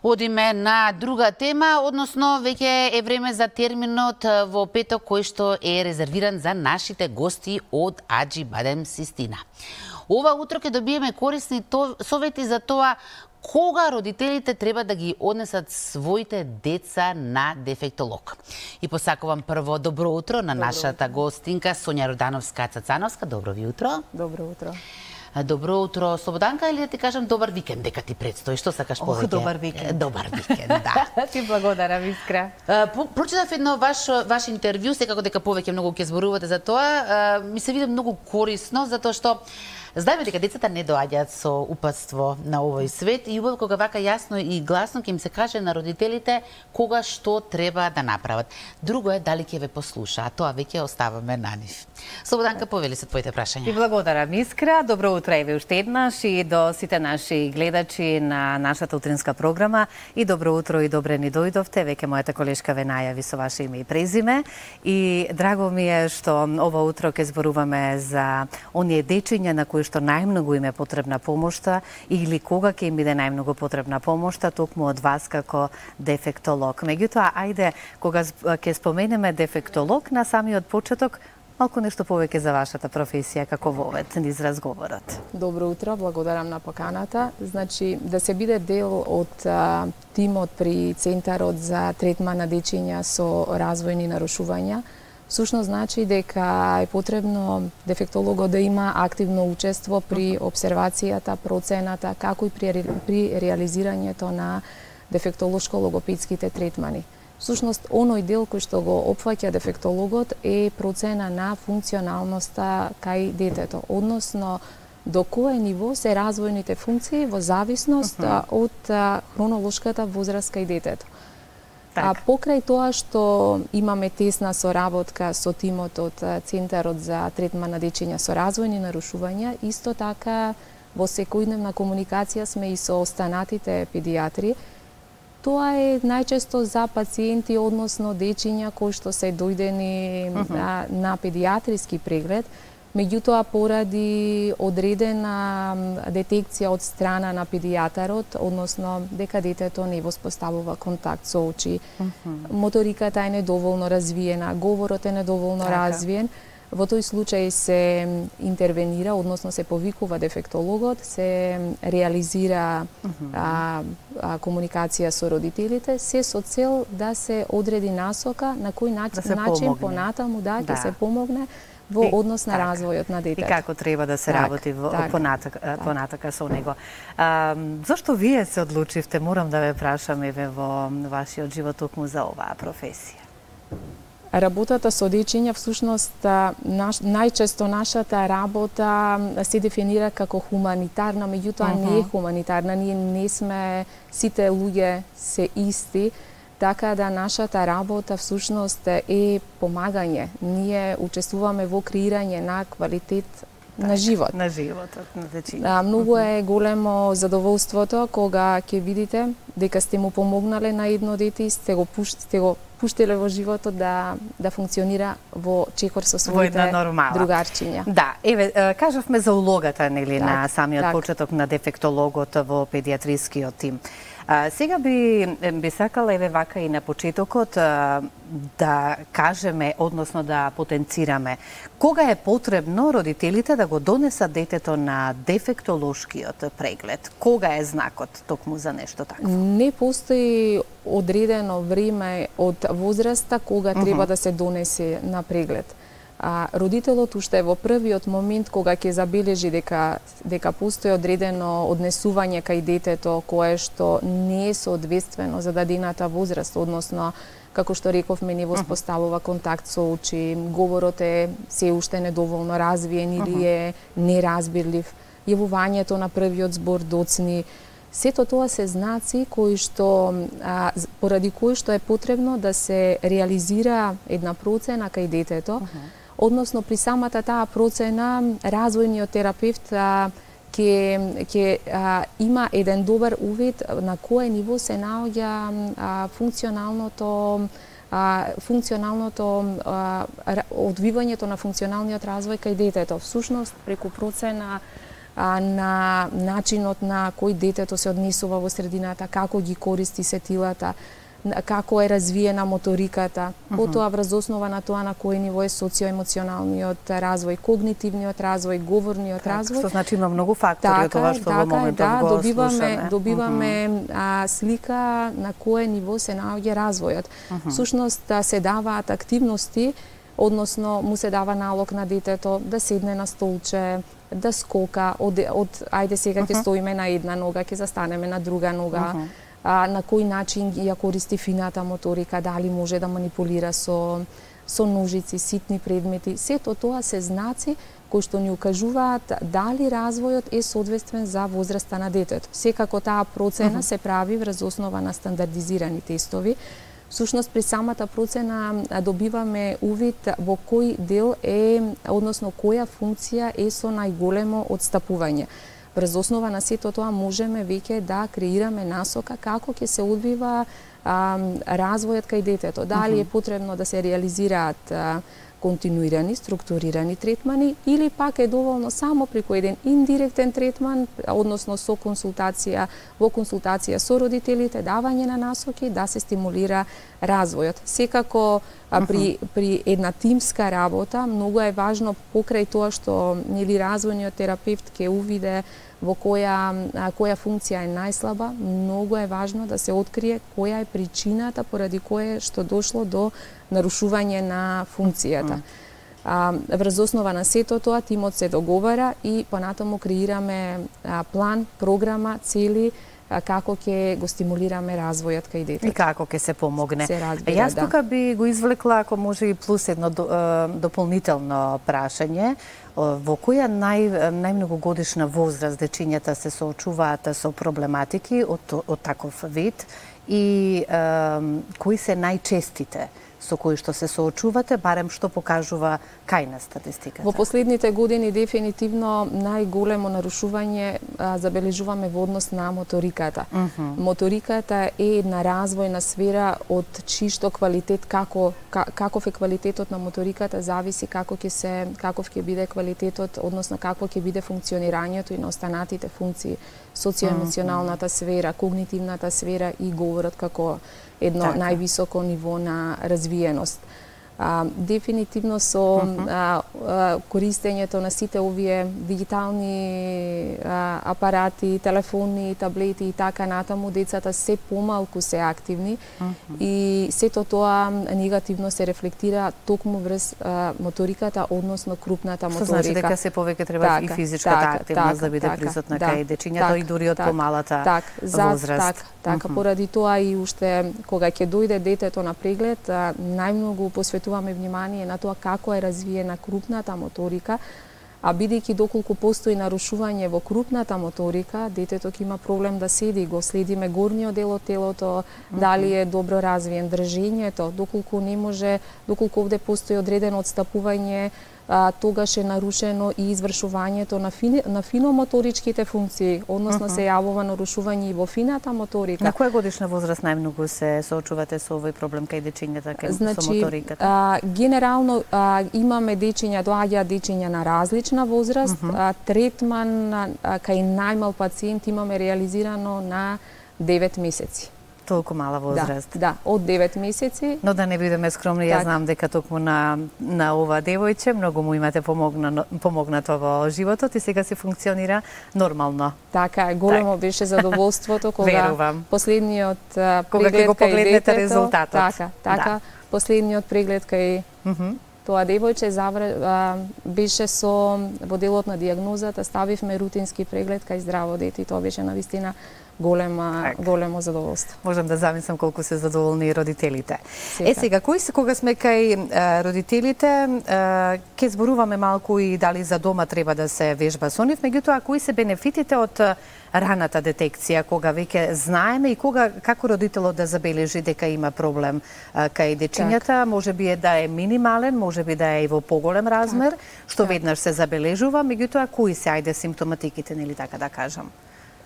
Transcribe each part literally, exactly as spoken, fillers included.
Одиме на друга тема, односно веќе е време за терминот во петок кој што е резервиран за нашите гости од Аџибадем Систина. Ова утро ќе добиеме корисни совети за тоа кога родителите треба да ги однесат своите деца на дефектолог. И посакувам прво добро утро на добро нашата утро. Гостинка Сонја Родановска-Цацановска. Добро ви утро. Добро утро. Добро утро, Слободанка, или да ти кажам добар викенд дека ти предстои? Што сакаш повеќе? Ох, добар викенд. Добар викенд, да. Ти благодарам, Искра. Прочитав едно ваш ваш интервју, секако дека повеќе многу ќе зборувате за тоа. Ми се види многу корисно, затоа што знаеме дека децата не доаѓаат со упатство на овој свет и убаво кога вака јасно и гласно ќе им се каже на родителите кога што треба да направат. Друго е дали ќе ве послушаат, тоа веќе оставаме на нив. Слободанка, повели се твоите прашања. И благодарам, Искра. Добро утро еве уште еднаш и до сите наши гледачи на нашата утринска програма. И добро утро и добре ни дојдовте. Веќе мојата колешка ве најави со ваше име и презиме. И драго ми е што ова утро ќе зборуваме за оние дечиња на кои што најмногу им е потребна помошта или кога ќе им биде најмногу потребна помошта, токму од вас како дефектолог. Меѓутоа, ајде, кога ќе споменеме дефектолог на самиот почеток, малку нешто повеќе за вашата професија како вовед низ разговорот. Добро утро, благодарам на поканата. Значи, да се биде дел од а, тимот при Центарот за третман на дечиња со развојни нарушувања, всушност значи дека е потребно дефектологот да има активно учество при обсервацијата, процената, како и при, при реализирањето на дефектолошко-логопедските третмани. Всушност, оној дел кој што го опфаќа дефектологот е процена на функционалноста кај детето, односно до кое ниво се развојните функции во зависност uh -huh. од а, хронолошката возраст кај детето. Так. А покрај тоа што имаме тесна соработка со тимот од Центарот за третман на дечиња со развојни нарушувања, исто така во секојдневна комуникација сме и со останатите педиатри. Тоа е најчесто за пациенти, односно дечиња кои што се дојдени uh -huh. на, на педиатриски преглед, меѓутоа поради одредена детекција од страна на педијатарот, односно дека детето не воспоставува контакт со очи, uh -huh. моториката е недоволно развиена, говорот е недоволно така. развиен, во тој случај се интервенира, односно се повикува дефектологот, се реализира uh -huh. а, а, комуникација со родителите, се со цел да се одреди насока на кој начин, да начин понатаму да, да. ќе се помогне во однос на развојот на детето. И како треба да се так, работи во, так, понатака, так. понатака со него. А, зашто вие се одлучивте, морам да ве прашам еве во вашиот живот токму за оваа професија? Работата со дечиња, всушност, наш, најчесто нашата работа се дефинира како хуманитарна, меѓутоа uh -huh. не е хуманитарна. Ние не сме, сите луѓе се исти, така да нашата работа всушност е помагање. Ние учествуваме во креирање на квалитет так, на живот. На животот, на дечиња. Да, многу е големо задоволството кога ќе видите дека сте му помогнале на едно дете и сте го пуштите го пуштиле во животот да да функционира во чекор со своите другарчиња. Да, еве кажавме за улогата нели так, на самиот так. почеток на дефектологот во педиатрискиот тим. А, сега би би сакала еве вака и на почетокот а, да кажеме, односно да потенцираме кога е потребно родителите да го донесат детето на дефектолошкиот преглед. Кога е знакот токму за нешто такво? Не постои одредено време од возраста кога треба uh -huh. да се донесе на преглед. А, родителот уште во првиот момент кога ќе забележи дека дека постои одредено однесување кај детето кое што не е соодветствено за дадената возраст, односно како што рековме не воспоставува контакт со очи, говорот е се уште недоволно развиен или е неразбирлив, јавувањето на првиот збор доцни, сето тоа се знаци кои што а, поради кои што е потребно да се реализира една процена кај детето. Uh -huh. Односно, при самата таа процена, развојниот терапевт ќе ќе има еден добар увид на кое ниво се наоѓа а, функционалното а, функционалното а, одвивањето на функционалниот развој кај детето. Всушност, преку процена а, на начинот на кој детето се однесува во средината, како ги користи сетилата, како е развиена моториката, uh-huh. потоа врз основа на тоа на кој ниво е социоемоционалниот развој, когнитивниот развој, говорниот так, развој. Што значи има многу фактори од тоа што во моментот да, го добиваме, слушаме. добиваме uh-huh. а, слика на кое ниво се наоѓа развојот. Uh-huh. Всушност се даваат активности, односно му се дава налог на детето да седне на столче, да скока, од, од ајде сега ќе uh-huh. стоиме на една нога, ќе застанеме на друга нога. Uh-huh. А, на кој начин ја користи фината моторика, дали може да манипулира со, со ножици, ситни предмети. Сето тоа се знаци кои што ни укажуваат дали развојот е соодветствен за возраста на детето. Секако таа процена uh-huh. се прави врз основа на стандардизирани тестови. Всушност при самата процена добиваме увид во кој дел е, односно која функција е со најголемо отстапување. Врз основа на сето тоа можеме веќе да креираме насока како ќе се одвива а, развојот кај детето. Дали е потребно да се реализираат а, континуирани, структурирани третмани или пак е доволно само преку еден индиректен третман, односно со консултација, во консултација со родителите, давање на насоки да се стимулира развојот. Секако а, при, при една тимска работа многу е важно покрај тоа што нели развојниот терапевт ќе увиде во која, која функција е најслаба, многу е важно да се открие која е причината поради која што дошло до нарушување на функцијата. А, врз основа на сето тоа, тимот се договара и понатаму креираме а, план, програма, цели, а, како ќе го стимулираме развојот кај детето. И како ќе се помогне. Се разбира, Јас тука би го извлекла, ако може и плюс едно дополнително прашање, во која нај, најмногу годишна возраст дечињата се соочуваат со проблематики од, од таков вид и е, кои се најчестите со кои што се соочувате, барем што покажува кајна статистиката? Во последните години дефинитивно најголемо нарушување а, забележуваме во однос на моториката. Uh -huh. Моториката е една развојна сфера од чишто квалитет, како ка, каков е квалитетот на моториката зависи како ќе се каков ќе биде квалитетот, односно какво ќе биде функционирањето и на останатите функции, социоемоционалната сфера, когнитивната сфера и говорот како едно така. Највисоко ниво на развиеност. А, дефинитивно со uh-huh. а, а, користењето на сите овие дигитални а, апарати, телефони, таблети и така натаму, децата се помалку се активни uh-huh. и сето тоа негативно се рефлектира токму врз а, моториката, односно крупната моторика. Што значи дека се повеќе треба така, и физичката така, активност така, да биде така, присутна да, кај дечињата така, и дури од така, помалата так, возраст. Так, така, uh-huh. поради тоа и уште кога ќе дојде детето на преглед, а, најмногу посветуваме внимание на тоа како е развиена крупната моторика, а бидејќи доколку постои нарушување во крупната моторика, детето ќе има проблем да седи, го следиме горниот дел од телото, mm-hmm. дали е добро развиен држењето, доколку не може, доколку овде постои одредено отстапување, а, тогаш е нарушено и извршувањето на, фини, на финомоторичките функции, односно uh-huh. се јавува нарушување и во фината моторика. На која годишна возраст најмногу се соочувате со овој проблем кај дечињата, кај значи, со моториката? А, генерално а, имаме дечиња, доаѓаат дечиња на различна возраст, uh-huh. а, третман а, кај најмал пациент имаме реализирано на девет месеци. Толку мала возраст. Да, да, од девет месеци. Но да не бидеме скромни, так. Ја знам дека токму на на ова девојче многу му имате помогна, помогнато во животот и сега се функционира нормално. Така е, големо так. беше задоволството кога Верувам. последниот преглед кога ќе го погледнете детето, резултатот. Така, така, да. Последниот преглед кај mm -hmm. тоа девојче завр... а, беше со во делот на дијагнозата, ставивме рутински преглед кај здраво дете и тоа беше навистина голема, так. големо задоволство. Можам да замислам колку се задоволни и родителите. Сека. Е сега, кои се кога сме кај а, родителите, а, ке зборуваме малку и дали за дома треба да се вежба со нив, меѓутоа кои се бенефитите од раната детекција, кога веќе знаеме и кога како родителот да забележи дека има проблем а, кај дечињата, так. може би е да е минимален, може би да е и во поголем размер, так. што так. веднаш се забележува, меѓутоа кои се ајде симптоматиките, нели така да кажам?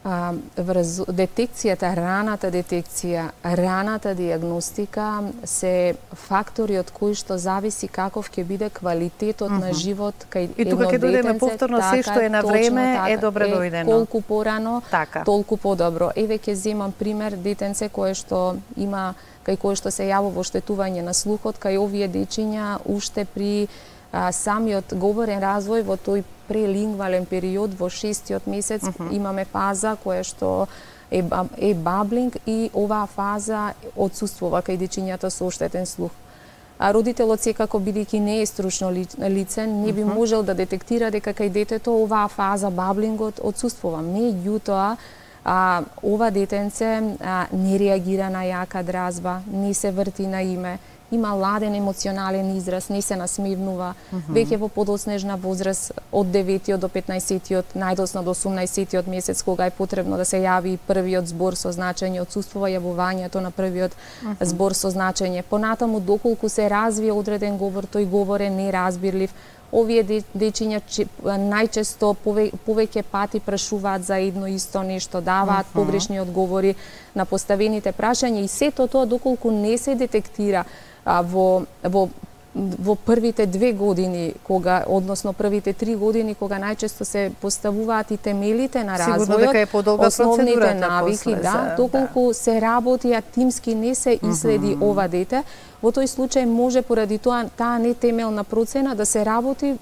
А, врз, детекцијата, раната детекција, раната диагностика се фактори од кои што зависи каков ќе биде квалитетот mm -hmm. на живот кај едно детенце. И тука ќе дојдеме повторно, така, се што е на време така, е добро дојдено. Колку порано, така. толку подобро. Еве ќе земам пример детенце кое што има кај кое што се јавува оштетување на слухот, кај овие дечиња уште при а, самиот говорен развој во тој прелингвален период во шестиот месец uh -huh. имаме фаза која што е, е баблинг и оваа фаза отсуствува кај дечињата со оштетен слух. А родителот секако бидејќи не е стручно лице, не би uh -huh. можел да детектира дека кај детето оваа фаза баблингот отсуствува. Меѓутоа, а, ова детенце а, не реагира на јака дразба, не се врти на име, има ладен емоционален израз, не се насмевнува, mm -hmm. веќе во подоцнежна возраст од деветиот до петнаесеттиот, најдоцна до осумнаесеттиот месец, кога е потребно да се јави првиот збор со значење, отсуствува јавувањето на првиот mm -hmm. збор со значење. Понатаму, доколку се развие одреден говор, тој говор е неразбирлив. Овие дечиња најчесто пове, повеќе пати прашуваат за едно исто нешто, даваат uh -huh. погрешни одговори на поставените прашања и сето тоа доколку не се детектира а, во, во во првите две години, кога, односно првите три години, кога најчесто се поставуваат и темелите на развојот, основните навики, да, доколку да. се работи, а тимски не се иследи mm -hmm. ова дете, во тој случај може поради тоа таа нетемелна процена да се работи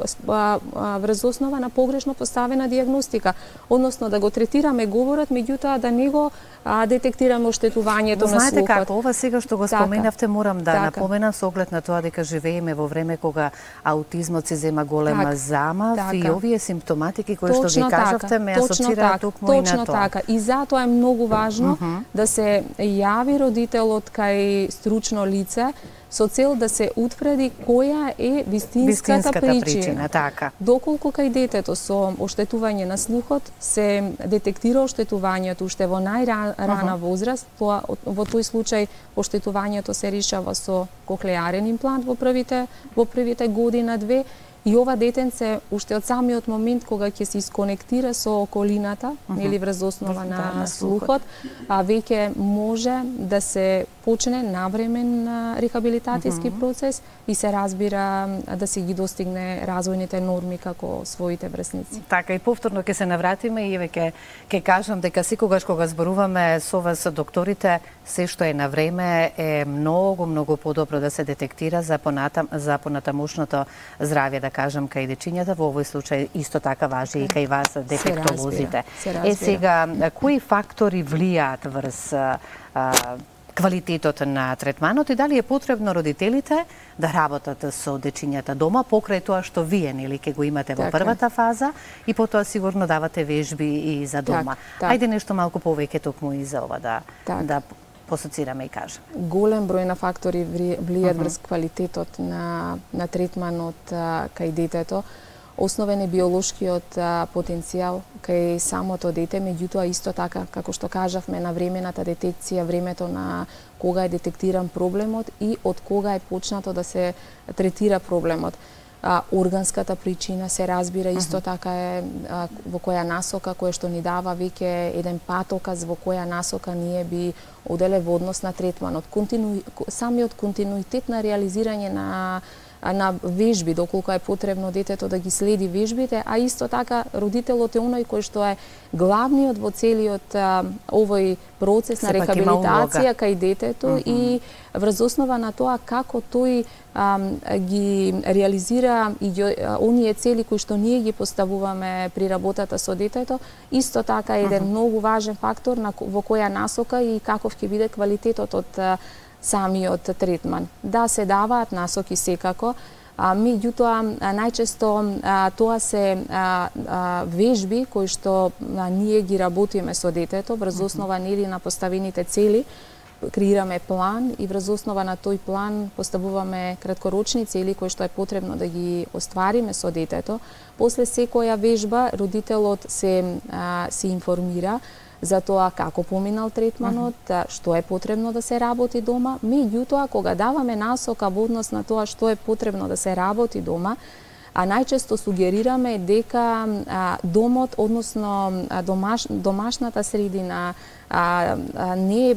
врз основа на погрешно поставена диагностика, односно да го третираме говорот, меѓутоа да не го а, детектираме оштетувањето на слухот. Знаете како, ова сега што го споменавте, морам да така. напоменам со оглед на тоа дека живееме во време кога аутизмот се зема голема така. замав така. и овие симптоматики кои точно што ги кажавте така. ме асоцираат токму и на тоа. Точно така. И затоа е многу важно mm -hmm. да се јави родителот кај стручно лице со цел да се утврди која е вистинската, вистинската причина. причина така. Доколку кај детето со оштетување на слухот се детектира оштетувањето уште во најрана uh -huh. возраст, тоа во тој случај оштетувањето се решава со кохлеарен имплант во првите во првите година две. И ова детенце, уште од самиот момент кога ќе се исконектира со околината, uh -huh. или врз основа на, на слухот, а веќе може да се почне навремен рехабилитацијски uh -huh. процес и се разбира да се ги достигне развојните норми како своите врсници. Така, и повторно ќе се навратиме и веќе ќе кажам дека секогаш кога зборуваме со вас докторите, се што е на време е многу, многу подобро да се детектира за понатам, за понатамошното здравје, да кажам, кај дечињата, во овој случај исто така важи и кај вас дефектолозите. Е сега, кои фактори влијаат врз а, квалитетот на третманот и дали е потребно родителите да работат со дечињата дома покрај тоа што вие нели ќе го имате во така. првата фаза и потоа сигурно давате вежби и за дома. Так, Ајде нешто малку повеќе токму и за ова да так. да посоцираме и кажем. Голем број на фактори влијаат uh -huh. врз квалитетот на на третманот а, кај детето. Основен е биолошкиот а, потенцијал кај самото дете, меѓутоа исто така, како што кажавме, на времената детекција, времето на кога е детектиран проблемот и од кога е почнато да се третира проблемот. А, органската причина се разбира исто uh -huh. така е а, во која насока, која што ни дава веќе еден патоказ во која насока ние би оделе во однос на третманот. Контину... Самиот континуитет на реализирање на на вежби, доколку е потребно детето да ги следи вежбите, а исто така родителот е оној кој што е главниот во целиот а, овој процес на рехабилитација кај детето mm -hmm. и врз основа на тоа како тој а, ги реализира и ги, а, оние цели кои што ние ги поставуваме при работата со детето, исто така е еден mm -hmm. многу важен фактор на, во која насока и каков ќе биде квалитетот од самиот третман. Да, се даваат насоки секако, а, меѓутоа најчесто а, тоа се а, а, вежби кои што а, ние ги работиме со детето врз основа нели на поставените цели, креираме план и врз основа на тој план поставуваме краткорочни цели кои што е потребно да ги оствариме со детето. После секоја вежба родителот се а, се информира за тоа како поминал третманот, uh -huh. што е потребно да се работи дома, меѓутоа кога даваме насока во однос на тоа што е потребно да се работи дома, а најчесто сугерираме дека а, домот, односно а, домаш, домашната средина а, а, не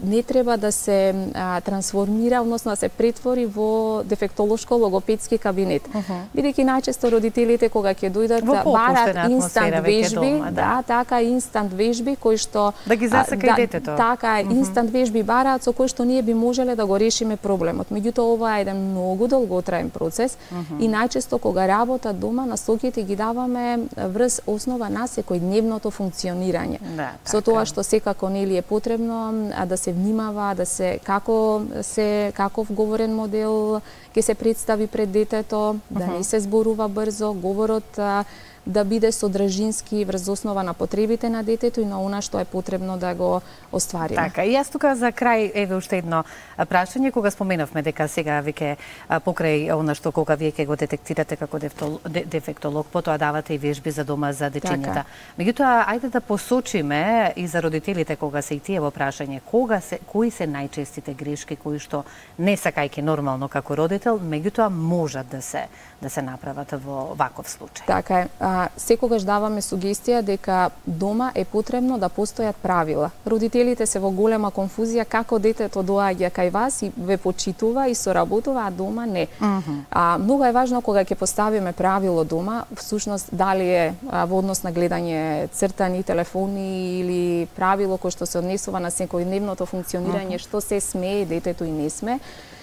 не треба да се а, трансформира, односно да се претвори во дефектолошко логопедски кабинет. Uh -huh. Бидејќи најчесто родителите кога ќе дојдат да барат инстант вежби, дома, да. да, така инстант вежби кои што да ги засака да, и детето. Така е, uh -huh. инстант вежби бараат со кои што ние би можеле да го решиме проблемот. Меѓутоа ова е еден многу долготраен процес uh -huh. и најчесто кога работат дома насоките ги даваме врз основа на секојдневното функционирање. Да, со тоа што секако нели е потребно а, да се внимава, да се како се каков говорен модел ќе се представи пред детето, да uh -huh. не се зборува брзо, говорот а, да биде содржински врз основа на потребите на детето и на она што е потребно да го оствариме. Така, и јас тука за крај еве уште едно прашање, кога споменавме дека сега веќе покрај она што кога вие ќе го детектирате како дефектолог, потоа давате и вежби за дома за дечињата. Така. Меѓутоа, ајде да посочиме и за родителите кога се и тие во прашање, кога се кои се најчестите грешки кои што не сакајќи нормално како родител, меѓутоа можат да се да се направат во ваков случај. Така е. А, секогаш даваме сугестија дека дома е потребно да постојат правила. Родителите се во голема конфузија како детето доаѓа кај вас и ве почитува и соработува, а дома не. Uh -huh. А, многу е важно кога ќе поставиме правило дома, всушност дали е а, во однос на гледање цртани, телефони или правило кој што се однесува на секојдневното функционирање, uh -huh. што се смее детето и не сме.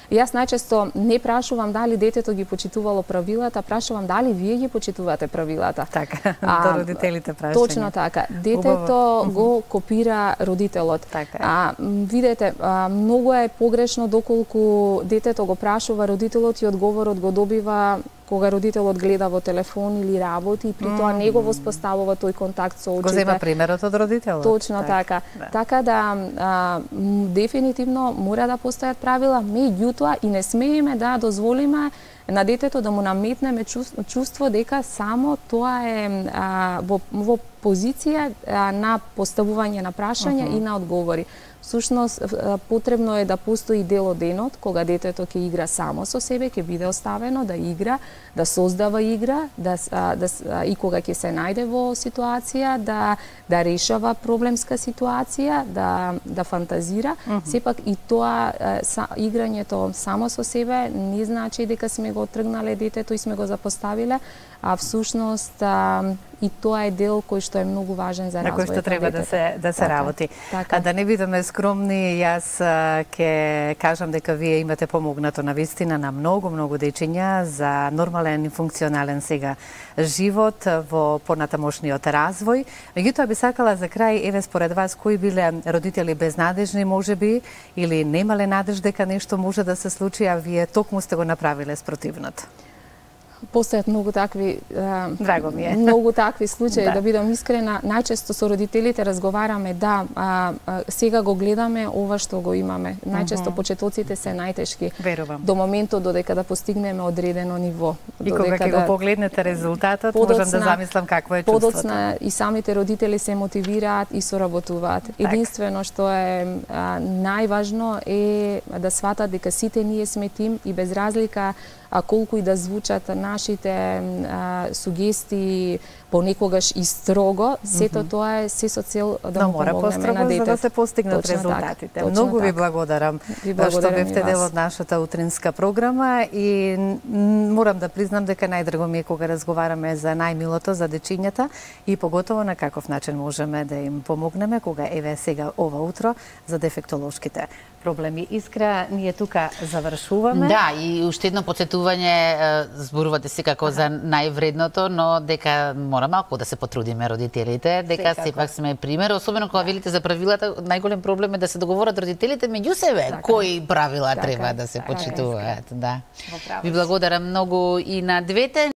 Јас најчесто не прашувам дали детето ги почитувало правилата, прашувам дали вие ги почитувате правилата. Така, а, до родителите прашање. Точно така. Детето Убаво. го копира родителот. Така. А, видете, а, многу е погрешно доколку детето го прашува родителот и одговорот го добива кога родителот гледа во телефон или работи и при тоа не го воспоставува тој контакт со очите. Го зема примерот од родителот. Точно так, така. Да. Така да а, дефинитивно мора да постојат правила, меѓутоа и не смееме да дозволиме на детето да му наметнеме чувство дека само тоа е а, во, во позиција а, на поставување на прашања uh -huh. и на одговори. Всушност, потребно е да постои дел од денот, кога детето ќе игра само со себе, ќе биде оставено да игра, да создава игра, да, да, и кога ќе се најде во ситуација, да, да решава проблемска ситуација, да, да фантазира. Uh -huh. Сепак и тоа, са, играњето само со себе, не значи дека сме го тргнале детето и сме го запоставиле, а всушност а, и тоа е дел кој што е многу важен за развојот на детето. На кој што треба да се да се така, работи. Така. А да не бидеме скромни, јас ќе кажам дека вие имате помогнато на вистина на многу многу дечиња за нормален и функционален сега живот во понатамошниот развој. Меѓутоа би сакала за крај, еве според вас кои биле родители безнадежни можеби или немале надеж дека нешто може да се случи, а вие токму сте го направиле спротивното? Постојат многу такви Драго ми е. многу такви случаи, да. да бидам искрена. Најчесто со родителите разговараме, да, а, а, сега го гледаме ова што го имаме. Најчесто uh -huh. почетоците се најтешки. Верувам. До моментот додека да постигнеме одредено ниво. И кога ќе да... го погледнете резултатот, подоцна, можам да замислам какво е чувството. Подоцна и самите родители се мотивираат и соработуваат. Так. Единствено што е а, најважно е да сватат дека сите ние сме тим и без разлика а колку и да звучат нашите а, сугестии понекогаш и строго, сето mm -hmm. тоа е се со цел да Но му помогнеме построго, на детето. за да се постигнат Точно резултатите. Так, Многу ви так. благодарам ви благодарам што бевте дел од нашата утринска програма и морам да признам дека најдраго ми е кога разговараме за најмилото, за дечињата и поготово на каков начин можеме да им помогнеме кога еве сега ова утро за дефектолошките проблеми. Искра, ние тука завршуваме. Да, и уште едно потсетување, зборувате секако за највредното, но дека мора малку да се потрудиме родителите, дека секако. Сепак сме пример, особено кога велите за правилата, најголем проблем е да се договорат родителите меѓу себе, така, кои правила така, треба да се така, почитуваат, да. Ви благодарам многу и на двете.